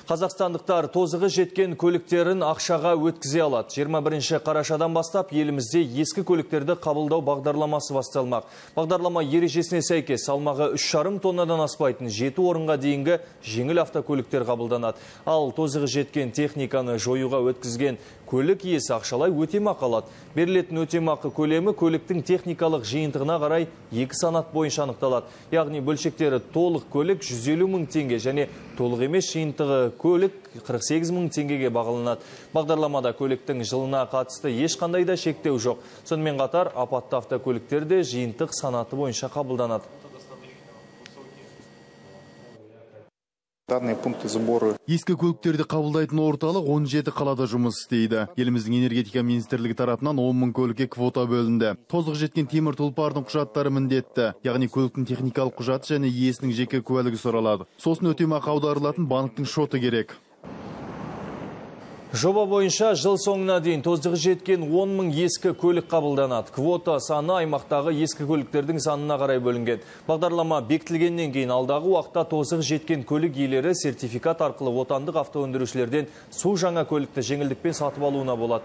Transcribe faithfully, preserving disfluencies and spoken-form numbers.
Қазақстандықтар тозығы жеткен көліктерін ақшаға өткізе алады. жиырма бірінші қарашадан бастап елімізде ескі көліктерді қабылдау бағдарламасы басталмақ. Бағдарлама ережесіне сәйкес салмағы үш жарым тоннадан аспайтын жеті орынға дейінгі жеңіл автокөліктер қабылданады. Ал тозығы жеткен техниканы жоюға өткізген көлік иесі ақшалай өтемақы алады. Берілетін өтемақы көлемі көліктің техникалық жиынтығына қарай екі санат бойынша анықталады. Яғни бөлшектері толық көлік жүз елу мың теңге және толық емес жиынтығы көлік қырық сегіз мың теңгеге бағаланады. Бағдарламада көліктің жылына қатысты ешқандай да шектеу жоқ. Сонымен қатар апатты автокөліктер де жиынтық санаты бойынша қабылданады. Данные пункты сбора. Ескі көліктерді қабылдайтын орталық он жеті қалада жұмыс істейді. Еліміздің энергетика министрлігі тарапынан он мың көлікке квота бөлінді. Тозығы жеткен темір тұлпардың құжаттары міндетті, яғни көліктің техникалық құжаты және иесінің жеке куәлігі сұралады. Сосын өтемақы аударылатын банктың шоты керек. Жоба бойынша жыл соңына дейін тозығы жеткен он мың ескі көлік қабылданады. Квота саны аймақтағы ескі көліктердің санына қарай бөлінген. Бағдарлама бекітілгеннен кейін алдағы уақытта тозығы жеткен көлік иелері сертификат арқылы отандық автоөндірушілерден су жаңа көлікті жеңілдікпен сатып алуына болады.